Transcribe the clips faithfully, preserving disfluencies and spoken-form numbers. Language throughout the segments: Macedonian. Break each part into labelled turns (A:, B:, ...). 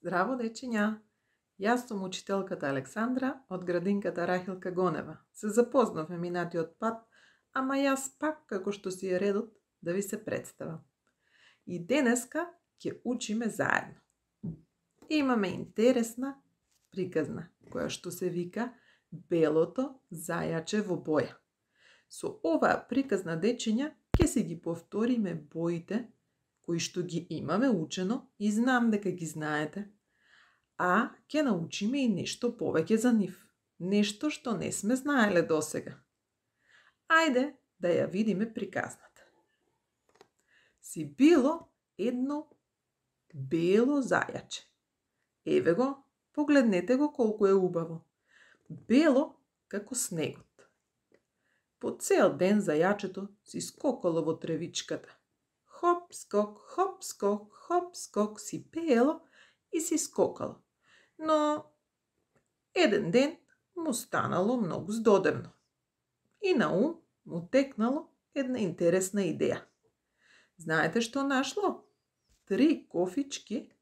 A: Здраво, дечиња! Јас сум учителката Александра од градинката Рахилка Гонева. Се запознавме минатиот пат, ама јас пак, како што си е редот, да ви се представам. И денеска ќе учиме заедно. Имаме интересна приказна, која што се вика Белото зајаче во боја. Со оваа приказна, дечиња, ќе си ги повториме боите кои што ги имаме учено и знам дека ги знаете, а ќе научиме и нешто повеќе за нив, нешто што не сме знаеле досега. Ајде да ја видиме приказната. Си било едно бело зајаче. Еве го, погледнете го колку е убаво. Бело како снегот. По цел ден зајачето си скокало во тревичката. Хоп, скок, хоп, скок, хоп, скок, си пеело и си скокало. Но еден ден му станало многу здодевно. И на ум му текнало една интересна идеја. Знаете што нашло? Три кофички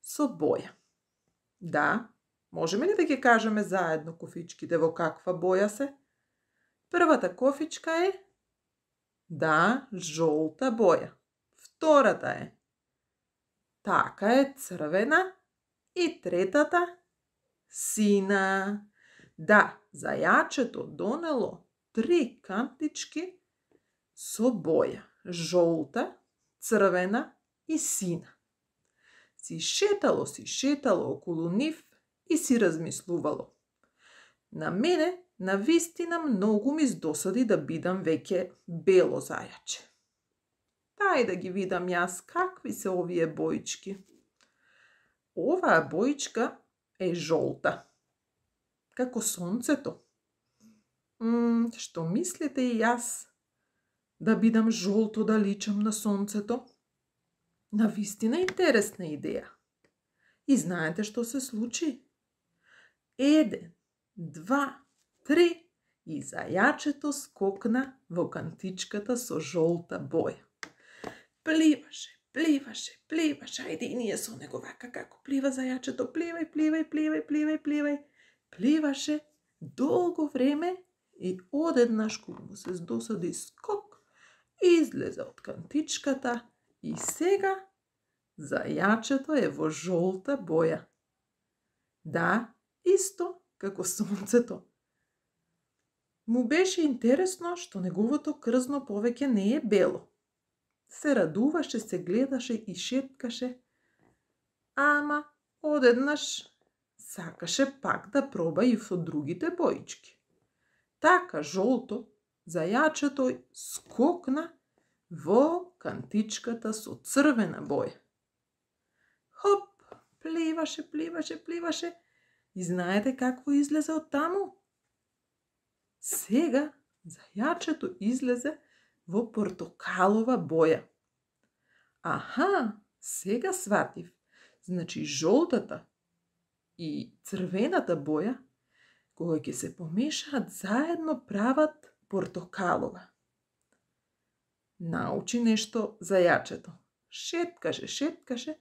A: со боја. Да, можеме ли да ги кажеме заедно кофичките во каква боја се? Првата кофичка е, да, жолта боја. Втората е, така е, црвена. И третата, сина. Да, зајачето донело три кантички со боја. Жолта, црвена и сина. Си шетало, си шетало околу нив и си размислувало. На мене, на вистина, многу ми здосади да бидам веќе бело зајаче. Дај да ги видам јас какви се овие боички. Оваа боичка е жолта. Како сонцето. М, што мислите и јас? Да бидам жолто, да личам на сонцето? На вистина интересна идеја. И знаете што се случи? Еден, два, три и зајачето скокна во кантичката со жолта боја. Пливаше, пливаше, пливаше, ајде и ние со него вака како плива зајачето, пливај, пливај, пливај, пливај, пливај. Пливаше долго време и одеднаш кога му се здосади скок, излезе од кантичката и сега зајачето е во жолта боја. Да, исто како сонцето. Му беше интересно што неговото крзно повеќе не е бело. Се радуваше, се гледаше и шеткаше, ама одеднаш сакаше пак да проба и во другите боички. Така жолто зајачето скокна во кантичката со црвена боја. Хоп, пливаше, пливаше, пливаше и знаете какво излезе од таму? Сега зајачето излезе во портокалова боја. Аха, сега сватив. Значи жолтата и црвената боја, кога ќе се помешаат заедно, прават портокалова. Научи нешто зајачето. Шеткаше, шеткаше,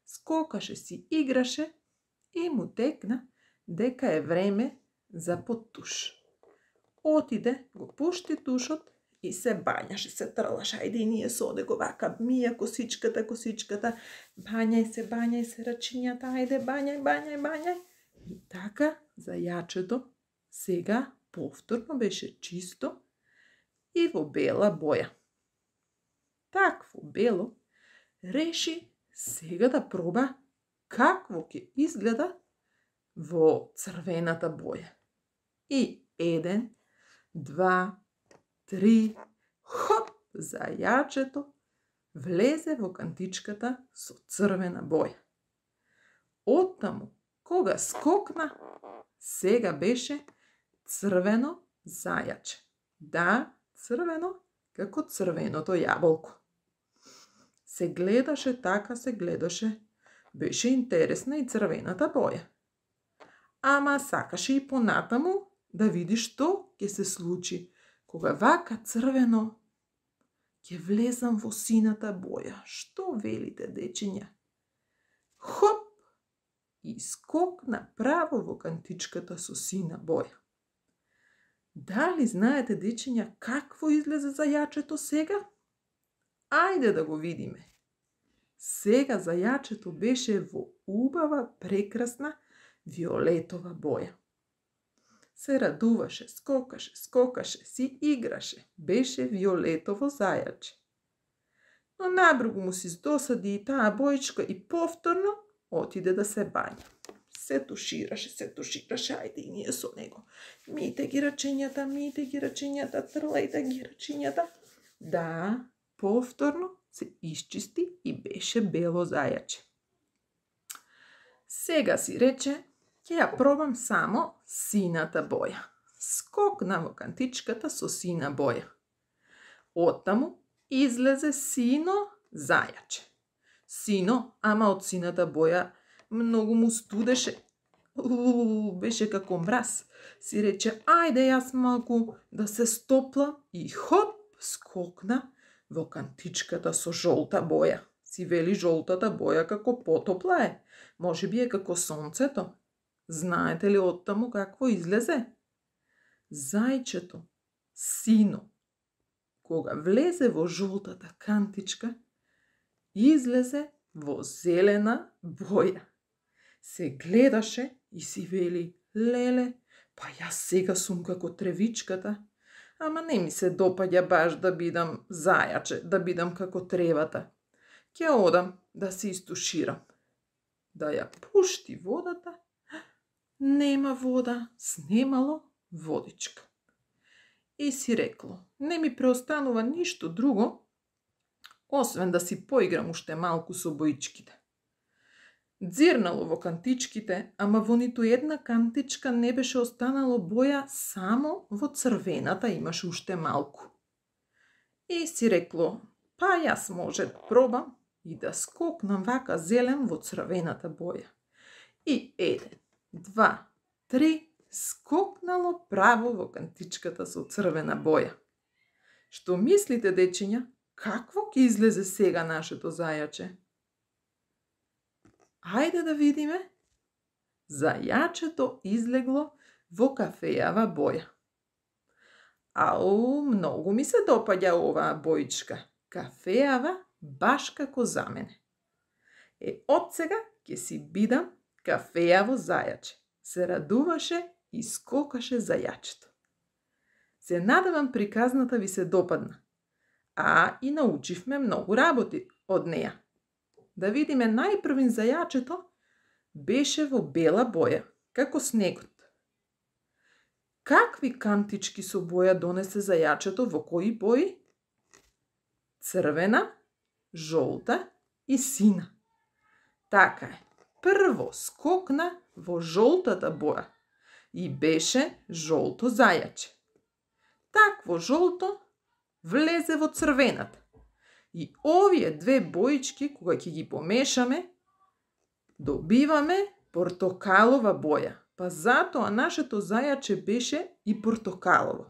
A: скокаше си, играше и му текна дека е време за под туш. Отиде, го пушти тушот и се бањаше, се трлаше. Ајде и ние со него вака, мија косичката, косичката, бањај се, бањај се рачињата, ајде, бањај, бањај, бањај. И така зајачето сега повторно беше чисто и во бела боја. Такво бело реши сега да проба какво ќе изгледа во црвената боја. И еден, два, три, хоп, зајачето влезе во кантичката со црвена боја. Оттаму, кога скокна, сега беше црвено зајаче. Да, црвено како црвеното јаболко. Се гледаше, така се гледаше. Беше интересна и црвената боја. Ама сакаше и понатаму да види што ќе се случи. Кога вака црвено ќе влезам во сината боја. Што велите, дечиња? Хоп! и скокна право во кантичката со сина боја. Дали знаете, дечиња, какво излезе зајачето сега? Ајде да го видиме. Сега зајачето беше во убава, прекрасна, виолетова боја. Се радуваше, скокаше, скокаше, си играше. Беше виолетово зајаче. Но набргу му си здосади и таа бојчка и повторно отиде да се бања. Се тушираше, се тушираше, ајде и ние со него. Мите ги рачињата, мите ги рачињата, трлајте ги рачињата. Да, повторно се исчисти и беше бело зајаче. Сега си рече, ќе ја пробам само сината боја. Скокна во кантичката со сина боја. Оттаму излезе сино зајаче. Сино, ама од сината боја многу му студеше. Уу, беше како мраз. Си рече, ајде јас малку да се стоплам и хоп, скокна во кантичката со жолта боја. Си вели жолтата боја како потопла е. Може би е како сонцето. Знаете ли оттаму какво излезе? Зајчето, сино, кога влезе во жолтата кантичка, излезе во зелена боја. Се гледаше и си вели, леле, па јас сега сум како тревичката, ама не ми се допаѓа баш да бидам зајаче, да бидам како тревата. Ќе одам да се истуширам. Да ја пушти водата, нема вода, снемало водичка. И си рекло, не ми преостанува ништо друго, освен да си поиграм уште малку со боичките. Дзирнало во кантичките, ама во ниту една кантичка не беше останало боја, само во црвената имаше уште малку. И си рекло, па јас може да пробам и да скокнам вака зелен во црвената боја. И еден, два, три, скокнало право во кантичката со црвена боја. Што мислите, дечиња, какво ќе излезе сега нашето зајаче? Ајде да видиме. Зајачето излегло во кафејава боја. Ау, многу ми се допаѓа оваа боичка. Кафејава, баш како за мене. Е, од сега ќе си бидам кафејаво зајаче. Се радуваше и скокаше зајачето. Се надевам приказната ви се допадна. А и научивме многу работи од неја. Да видиме, најпрвин зајачето беше во бела боја, како снегот. Какви кантички со боја донесе зајачето, во кои бои? Црвена, жолта и сина. Така е. Прво скокна во жолтата боја и беше жолто зајаче. Такво жолто влезе во црвената. И овие две боички, кога ќе ги помешаме, добиваме портокалова боја. Па затоа нашето зајаче беше и портокалово.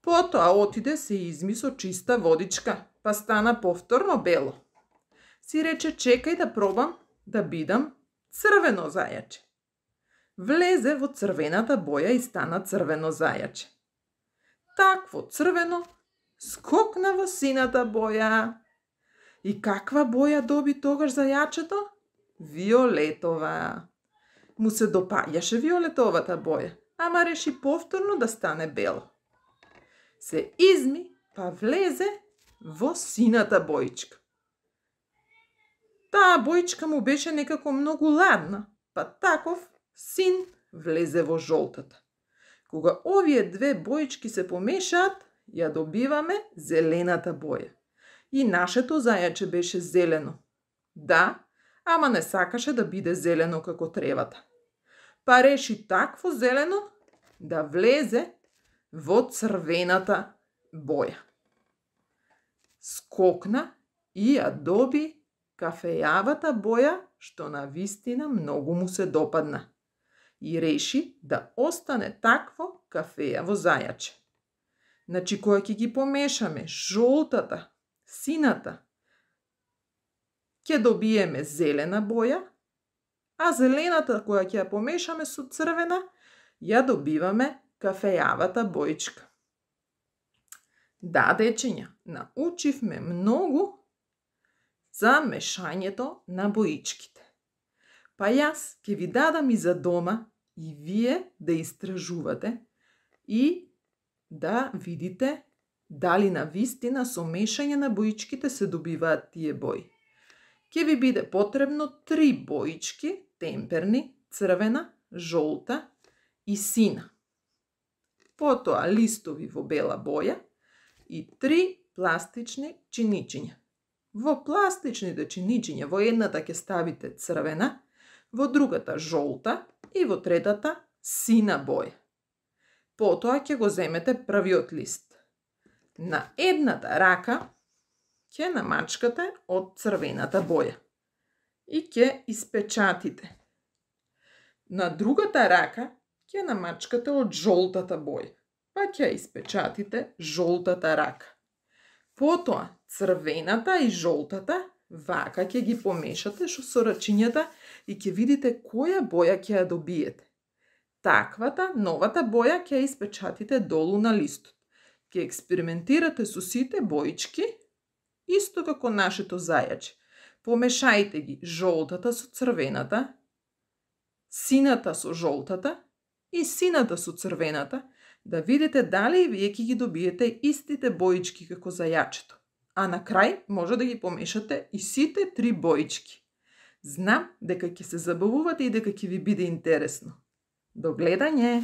A: Потоа отиде се изми со чиста водичка, па стана повторно бело. Си рече, чекај да пробам да бидам црвено зајаче. Влезе во црвената боја и стана црвено зајаче. Такво црвено скокна во сината боја. И каква боја доби тогаш зајачето? Виолетова. Му се допаѓаше виолетовата боја, ама реши повторно да стане бело. Се изми, па влезе во сината боичка. Таа боичка му беше некако многу ладна, па таков син влезе во жолтата. Кога овие две боички се помешаат, ја добиваме зелената боја. И нашето зајаче беше зелено. Да, ама не сакаше да биде зелено како тревата. Па реши такво зелено да влезе во црвената боја. Скокна и ја доби кафејавата боја, што на вистина многу му се допадна. И реши да остане такво кафејаво зајаче. Значи, кога ќе ги помешаме жолтата, сината, ќе добиеме зелена боја, а зелената која ќе ја помешаме со црвена, ја добиваме кафејавата боичка. Да, дечиња, научивме многу за мешањето на боичките. Па јас ќе ви дадам и за дома и вие да истражувате и да видите дали на вистина со мешање на боичките се добиваат тие бои. Ќе ви биде потребно три боички, темперни, црвена, жолта и сина. Потоа листови во бела боја и три пластични чиничиња. Во пластичните чиничиња во едната ќе ставите црвена, во другата жолта и во третата сина боја. Потоа ќе го земете првиот лист. На едната рака ќе намачкате од црвената боја и ќе испечатите. На другата рака ќе намачкате од жолтата боја, па ќе испечатите жолтата рака. Потоа црвената и жолтата вака ќе ги помешате со рачињата и ќе видите која боја ќе ја добиете. Таквата новата боја ќе ја испечатите долу на листот. Ќе експериментирате со сите боички, исто како нашето зајаче. Помешајте ги жолтата со црвената, сината со жолтата и сината со црвената, да видите дали и вие ќе ги добиете истите боички како зајачето. А на крај може да ги помешате и сите три боички. Знам дека ќе се забавувате и дека ќе ви биде интересно. До гледање!